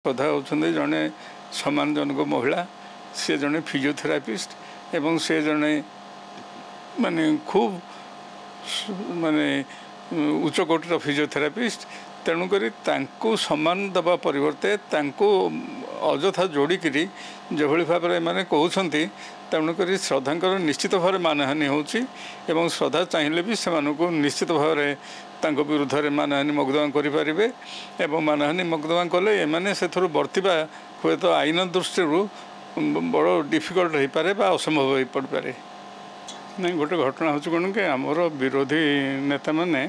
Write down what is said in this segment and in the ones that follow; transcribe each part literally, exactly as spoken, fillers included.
ଶ୍ରଦ୍ଧା ହେଉଛନ୍ତି ଜଣେ ସମ୍ମାନଜନକ ମହିଳା, ସେ ଜଣେ ଫିଜିଓଥେରାପିଷ୍ଟ ଏବଂ ସେ ଜଣେ ମାନେ ଖୁବ୍ ମାନେ ଉଚ୍ଚକୋଟୀର ଫିଜିଓଥେରାପିଷ୍ଟ। ତେଣୁକରି ତାଙ୍କୁ ସମ୍ମାନ ଦେବା ପରିବର୍ତ୍ତେ ତାଙ୍କୁ ଅଯଥା ଯୋଡ଼ିକିରି ଯେଭଳି ଭାବରେ ଏମାନେ କହୁଛନ୍ତି, ତେଣୁକରି ଶ୍ରଦ୍ଧାଙ୍କର ନିଶ୍ଚିତ ଭାବରେ ମାନହାନି ହେଉଛି ଏବଂ ଶ୍ରଦ୍ଧା ଚାହିଁଲେ ବି ସେମାନଙ୍କୁ ନିଶ୍ଚିତ ଭାବରେ ତାଙ୍କ ବିରୁଦ୍ଧରେ ମାନହାନି ମକଦ୍ଦମା କରିପାରିବେ ଏବଂ ମାନହାନି ମକଦ୍ଦମା କଲେ ଏମାନେ ସେଥିରୁ ବର୍ତ୍ତିବା ହୁଏତ ଆଇନ ଦୃଷ୍ଟିରୁ ବଡ଼ ଡିଫିକଲ୍ଟ ହୋଇପାରେ ବା ଅସମ୍ଭବ ହୋଇପଡ଼ିପାରେ। ନାଇଁ, ଗୋଟେ ଘଟଣା ହେଉଛି କ'ଣ କି, ଆମର ବିରୋଧୀ ନେତାମାନେ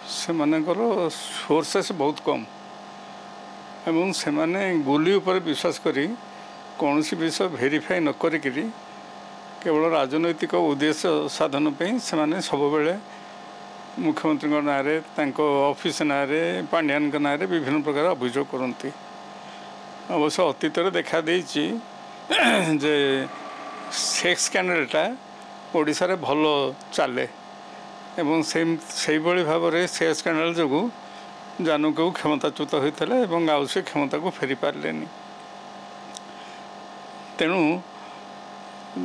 ସେମାନଙ୍କର ସୋର୍ସେସ୍ ବହୁତ କମ୍ ଏବଂ ସେମାନେ ଗୁଲି ଉପରେ ବିଶ୍ୱାସ କରି କୌଣସି ବିଷୟ ଭେରିଫାଇ ନ କରିକିରି କେବଳ ରାଜନୈତିକ ଉଦ୍ଦେଶ୍ୟ ସାଧନ ପାଇଁ ସେମାନେ ସବୁବେଳେ ମୁଖ୍ୟମନ୍ତ୍ରୀଙ୍କ ନାଁରେ, ତାଙ୍କ ଅଫିସ୍ ନାଁରେ, ପାଣ୍ଡିଆନଙ୍କ ନାଁରେ ବିଭିନ୍ନ ପ୍ରକାର ଅଭିଯୋଗ କରନ୍ତି। ଅବଶ୍ୟ ଅତୀତରେ ଦେଖାଦେଇଛି ଯେ ସେକ୍ସ ସ୍କାଣ୍ଡାଲଟା ଓଡ଼ିଶାରେ ଭଲ ଚାଲେ ଏବଂ ସେଇଭଳି ଭାବରେ ସେକ୍ସ ସ୍କାଣ୍ଡାଲ ଯୋଗୁଁ ଜାନୁକୁ କ୍ଷମତାଚ୍ୟୁତ ହୋଇଥିଲେ ଏବଂ ଆଉ ସେ କ୍ଷମତାକୁ ଫେରି ପାରିଲେନି। ତେଣୁ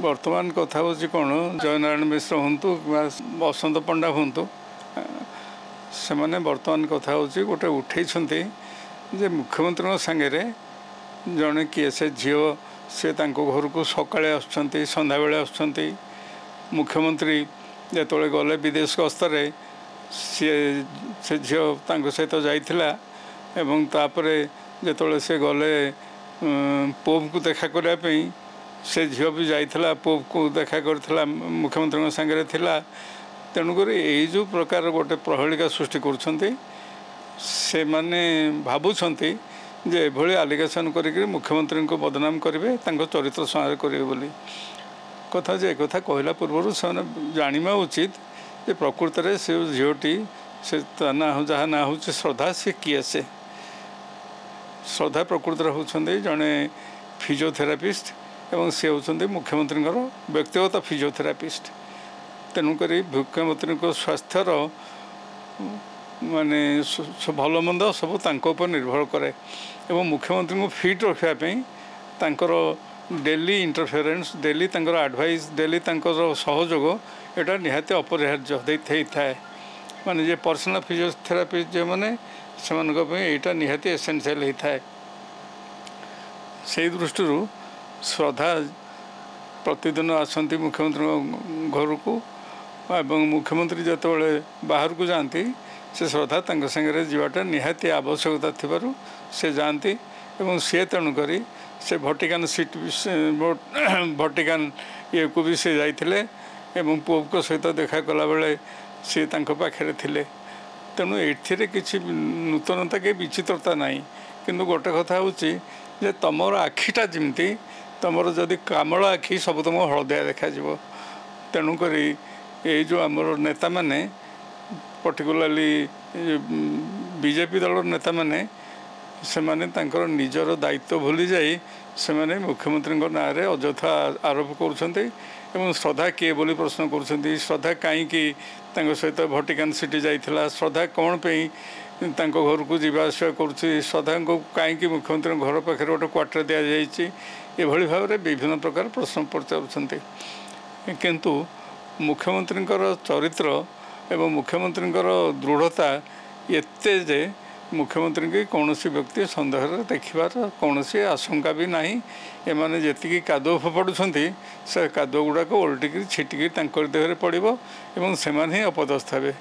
ବର୍ତ୍ତମାନ କଥା ହେଉଛି କ'ଣ, ଜୟନାରାୟଣ ମିଶ୍ର ହୁଅନ୍ତୁ କିମ୍ବା ବସନ୍ତ ପଣ୍ଡା ହୁଅନ୍ତୁ, ସେମାନେ ବର୍ତ୍ତମାନ କଥା ହେଉଛି ଗୋଟେ ଉଠେଇଛନ୍ତି ଯେ ମୁଖ୍ୟମନ୍ତ୍ରୀଙ୍କ ସାଙ୍ଗରେ ଜଣେ କିଏ ସେ ଝିଅ, ସେ ତାଙ୍କ ଘରକୁ ସକାଳେ ଆସୁଛନ୍ତି, ସନ୍ଧ୍ୟାବେଳେ ଆସୁଛନ୍ତି। ମୁଖ୍ୟମନ୍ତ୍ରୀ ଯେତେବେଳେ ଗଲେ ବିଦେଶ ଗସ୍ତରେ, ସିଏ ସେ ଝିଅ ତାଙ୍କ ସହିତ ଯାଇଥିଲା ଏବଂ ତାପରେ ଯେତେବେଳେ ସେ ଗଲେ ପୋପ୍କୁ ଦେଖା କରିବା ପାଇଁ, ସେ ଝିଅ ବି ଯାଇଥିଲା, ପୋପ୍କୁ ଦେଖା କରିଥିଲା, ମୁଖ୍ୟମନ୍ତ୍ରୀଙ୍କ ସାଙ୍ଗରେ ଥିଲା। ତେଣୁକରି ଏଇ ଯେଉଁ ପ୍ରକାର ଗୋଟେ ପ୍ରହେଳିକା ସୃଷ୍ଟି କରୁଛନ୍ତି, ସେମାନେ ଭାବୁଛନ୍ତି ଯେ ଏଭଳି ଆଲିଗେସନ୍ କରିକିରି ମୁଖ୍ୟମନ୍ତ୍ରୀଙ୍କୁ ବଦନାମ କରିବେ, ତାଙ୍କ ଚରିତ୍ର ସଂହାର କରିବେ ବୋଲି କଥା। ଯେ ଏକଥା କହିଲା ପୂର୍ବରୁ ସେମାନେ ଜାଣିବା ଉଚିତ ଯେ ପ୍ରକୃତରେ ସେ ଝିଅଟି, ସେ ତା ନାଁ ଯାହା ନାଁ ହେଉଛି ଶ୍ରଦ୍ଧା, ସେ କିଏ? ସେ ଶ୍ରଦ୍ଧା ପ୍ରକୃତରେ ହେଉଛନ୍ତି ଜଣେ ଫିଜିଓଥେରାପିଷ୍ଟ ଏବଂ ସେ ହେଉଛନ୍ତି ମୁଖ୍ୟମନ୍ତ୍ରୀଙ୍କର ବ୍ୟକ୍ତିଗତ ଫିଜିଓଥେରାପିଷ୍ଟ। ତେଣୁକରି ମୁଖ୍ୟମନ୍ତ୍ରୀଙ୍କ ସ୍ୱାସ୍ଥ୍ୟର ମାନେ ଭଲ ମନ୍ଦ ସବୁ ତାଙ୍କ ଉପରେ ନିର୍ଭର କରେ ଏବଂ ମୁଖ୍ୟମନ୍ତ୍ରୀଙ୍କୁ ଫିଟ୍ ରଖିବା ପାଇଁ ତାଙ୍କର ଡେଲି ଇଣ୍ଟରଫିୟରେନ୍ସ, ଡେଲି ତାଙ୍କର ଆଡ଼ଭାଇସ୍, ଡେଲି ତାଙ୍କର ସହଯୋଗ ଏଇଟା ନିହାତି ଅପରିହାର୍ଯ୍ୟ ହେଇଥାଏ। ମାନେ ଯେ ପର୍ସନାଲ୍ ଫିଜିଓଥେରାପିଷ୍ଟ ଯେଉଁମାନେ, ସେମାନଙ୍କ ପାଇଁ ଏଇଟା ନିହାତି ଏସେନ୍ସିଆଲ୍ ହେଇଥାଏ। ସେଇ ଦୃଷ୍ଟିରୁ ଶ୍ରଦ୍ଧା ପ୍ରତିଦିନ ଆସନ୍ତି ମୁଖ୍ୟମନ୍ତ୍ରୀଙ୍କ ଘରକୁ ଏବଂ ମୁଖ୍ୟମନ୍ତ୍ରୀ ଯେତେବେଳେ ବାହାରକୁ ଯାଆନ୍ତି, ସେ ଶ୍ରଦ୍ଧା ତାଙ୍କ ସାଙ୍ଗରେ ଯିବାଟା ନିହାତି ଆବଶ୍ୟକତା ଥିବାରୁ ସେ ଯାଆନ୍ତି ଏବଂ ସିଏ ତେଣୁକରି ସେ ଭଟିକାନ ସିଟ୍, ଭଟିକାନ ଇଏକୁ ବି ସେ ଯାଇଥିଲେ ଏବଂ ପୋପ୍ଙ୍କ ସହିତ ଦେଖା କଲାବେଳେ ସିଏ ତାଙ୍କ ପାଖରେ ଥିଲେ। ତେଣୁ ଏଥିରେ କିଛି ନୂତନତା କି ବିଚିତ୍ରତା ନାହିଁ। କିନ୍ତୁ ଗୋଟେ କଥା ହେଉଛି ଯେ ତୁମର ଆଖିଟା ଯେମିତି, ତୁମର ଯଦି କାମଳ ଆଖି, ସବୁ ତୁମକୁ ହଳଦିଆ ଦେଖାଯିବ। ତେଣୁକରି ଏଇ ଯେଉଁ ଆମର ନେତାମାନେ, ପର୍ଟିକୁଲାରଲି ବିଜେପି ଦଳର ନେତାମାନେ, ସେମାନେ ତାଙ୍କର ନିଜର ଦାୟିତ୍ୱ ଭୁଲି ଯାଇ ସେମାନେ ମୁଖ୍ୟମନ୍ତ୍ରୀଙ୍କ ନାଁରେ ଅଯଥା ଆରୋପ କରୁଛନ୍ତି ଏବଂ ଶ୍ରଦ୍ଧା କିଏ ବୋଲି ପ୍ରଶ୍ନ କରୁଛନ୍ତି, ଶ୍ରଦ୍ଧା କାହିଁକି ତାଙ୍କ ସହିତ ଭଟିକାନ ସିଟି ଯାଇଥିଲା, ଶ୍ରଦ୍ଧା କ'ଣ ପାଇଁ ତାଙ୍କ ଘରକୁ ଯିବା ଆସିବା କରୁଛି, ଶ୍ରଦ୍ଧାଙ୍କୁ କାହିଁକି ମୁଖ୍ୟମନ୍ତ୍ରୀଙ୍କ ଘର ପାଖରେ ଗୋଟେ କ୍ୱାର୍ଟର ଦିଆଯାଇଛି, ଏଭଳି ଭାବରେ ବିଭିନ୍ନ ପ୍ରକାର ପ୍ରଶ୍ନ ପଚାରୁଛନ୍ତି। କିନ୍ତୁ ମୁଖ୍ୟମନ୍ତ୍ରୀଙ୍କର ଚରିତ୍ର ଏବଂ ମୁଖ୍ୟମନ୍ତ୍ରୀଙ୍କର ଦୃଢ଼ତା ଏତେ ଯେ ମୁଖ୍ୟମନ୍ତ୍ରୀଙ୍କୁ କୌଣସି ବ୍ୟକ୍ତି ସନ୍ଦେହରେ ଦେଖିବାର କୌଣସି ଆଶଙ୍କା ବି ନାହିଁ। ଏମାନେ ଯେତିକି କାଦୁଅ ଫୋପାଡ଼ୁଛନ୍ତି, ସେ କାଦୁଅ ଗୁଡ଼ାକ ଓଲଟିକିରି ଛିଟିକିରି ତାଙ୍କରି ଦେହରେ ପଡ଼ିବ ଏବଂ ସେମାନେ ହିଁ ଅପଦସ୍ଥ ହେବେ।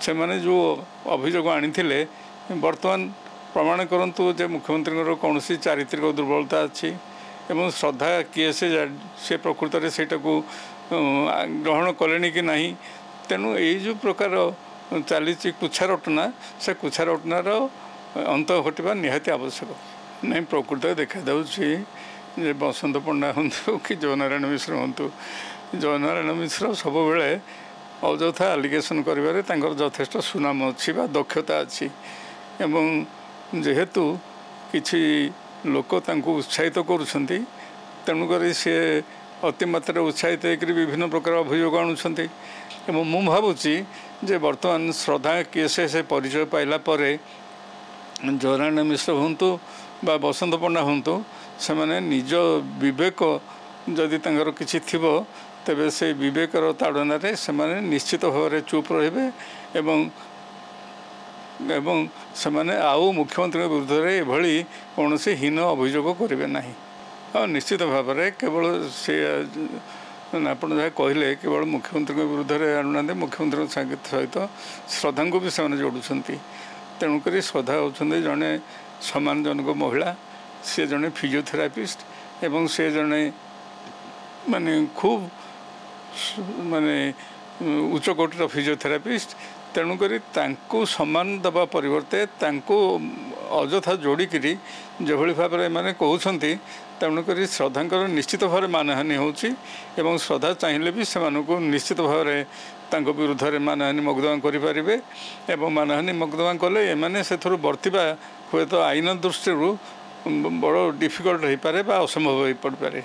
ସେମାନେ ଯେଉଁ ଅଭିଯୋଗ ଆଣିଥିଲେ, ବର୍ତ୍ତମାନ ପ୍ରମାଣ କରନ୍ତୁ ଯେ ମୁଖ୍ୟମନ୍ତ୍ରୀଙ୍କର କୌଣସି ଚାରିତ୍ରିକ ଦୁର୍ବଳତା ଅଛି ଏବଂ ଶ୍ରଦ୍ଧା କିଏ, ସେ ସେ ପ୍ରକୃତରେ ସେଇଟାକୁ ଗ୍ରହଣ କଲେଣି କି ନାହିଁ। ତେଣୁ ଏଇ ଯେଉଁ ପ୍ରକାର ଚାଲିଛି କୁଛାରଟନା, ସେ କୁଛାରଟନାର ଅନ୍ତ ଘଟିବା ନିହାତି ଆବଶ୍ୟକ। ନାଇଁ, ପ୍ରକୃତରେ ଦେଖାଯାଉଛି ଯେ ବସନ୍ତ ପଣ୍ଡା ହୁଅନ୍ତୁ କି ଜୟନାରାୟଣ ମିଶ୍ର ହୁଅନ୍ତୁ, ଜୟନାରାୟଣ ମିଶ୍ର ସବୁବେଳେ ଅଯଥା ଆଲିଗେସନ୍ କରିବାରେ ତାଙ୍କର ଯଥେଷ୍ଟ ସୁନାମ ଅଛି ବା ଦକ୍ଷତା ଅଛି ଏବଂ ଯେହେତୁ କିଛି ଲୋକ ତାଙ୍କୁ ଉତ୍ସାହିତ କରୁଛନ୍ତି, ତେଣୁକରି ସିଏ ଅତିମାତ୍ରାରେ ଉତ୍ସାହିତ ହେଇକରି ବିଭିନ୍ନ ପ୍ରକାର ଅଭିଯୋଗ ଆଣୁଛନ୍ତି। ଏବଂ ମୁଁ ଭାବୁଛି ଯେ ବର୍ତ୍ତମାନ ଶ୍ରଦ୍ଧା କିଏ, ସେ ସେ ପରିଚୟ ପାଇଲା ପରେ ଜୟନାରାୟଣ ମିଶ୍ର ହୁଅନ୍ତୁ ବା ବସନ୍ତ ପଣ୍ଡା ହୁଅନ୍ତୁ, ସେମାନେ ନିଜ ବିବେକ ଯଦି ତାଙ୍କର କିଛି ଥିବ, ତେବେ ସେ ବିବେକର ତାଡ଼ନାରେ ସେମାନେ ନିଶ୍ଚିତ ଭାବରେ ଚୁପ୍ ରହିବେ ଏବଂ ଏବଂ ସେମାନେ ଆଉ ମୁଖ୍ୟମନ୍ତ୍ରୀଙ୍କ ବିରୁଦ୍ଧରେ ଏଭଳି କୌଣସି ହୀନ ଅଭିଯୋଗ କରିବେ ନାହିଁ। ହଁ, ନିଶ୍ଚିତ ଭାବରେ କେବଳ ସେ ଆପଣ ଯାହା କହିଲେ, କେବଳ ମୁଖ୍ୟମନ୍ତ୍ରୀଙ୍କ ବିରୁଦ୍ଧରେ ଆଣୁନାହାନ୍ତି, ମୁଖ୍ୟମନ୍ତ୍ରୀଙ୍କ ସହିତ ଶ୍ରଦ୍ଧାଙ୍କୁ ବି ସେମାନେ ଯୋଡ଼ୁଛନ୍ତି। ତେଣୁକରି ଶ୍ରଦ୍ଧା ହେଉଛନ୍ତି ଜଣେ ସମ୍ମାନଜନକ ମହିଳା, ସେ ଜଣେ ଫିଜିଓଥେରାପିଷ୍ଟ ଏବଂ ସେ ଜଣେ ମାନେ ଖୁବ୍ ମାନେ ଉଚ୍ଚକୋଟୀର ଫିଜିଓଥେରାପିଷ୍ଟ। ତେଣୁକରି ତାଙ୍କୁ ସମ୍ମାନ ଦେବା ପରିବର୍ତ୍ତେ ତାଙ୍କୁ ଅଯଥା ଯୋଡ଼ିକିରି ଯେଭଳି ଭାବରେ ଏମାନେ କହୁଛନ୍ତି, ତେଣୁକରି ଶ୍ରଦ୍ଧାଙ୍କର ନିଶ୍ଚିତ ଭାବରେ ମାନହାନି ହେଉଛି ଏବଂ ଶ୍ରଦ୍ଧା ଚାହିଁଲେ ବି ସେମାନଙ୍କୁ ନିଶ୍ଚିତ ଭାବରେ ତାଙ୍କ ବିରୁଦ୍ଧରେ ମାନହାନି ମକଦ୍ଦମା କରିପାରିବେ ଏବଂ ମାନହାନି ମକଦ୍ଦମା କଲେ ଏମାନେ ସେଥିରୁ ବର୍ତ୍ତିବା ହୁଏତ ଆଇନ ଦୃଷ୍ଟିରୁ ବଡ଼ ଡିଫିକଲ୍ଟ ହୋଇପାରେ ବା ଅସମ୍ଭବ ହୋଇପଡ଼ିପାରେ।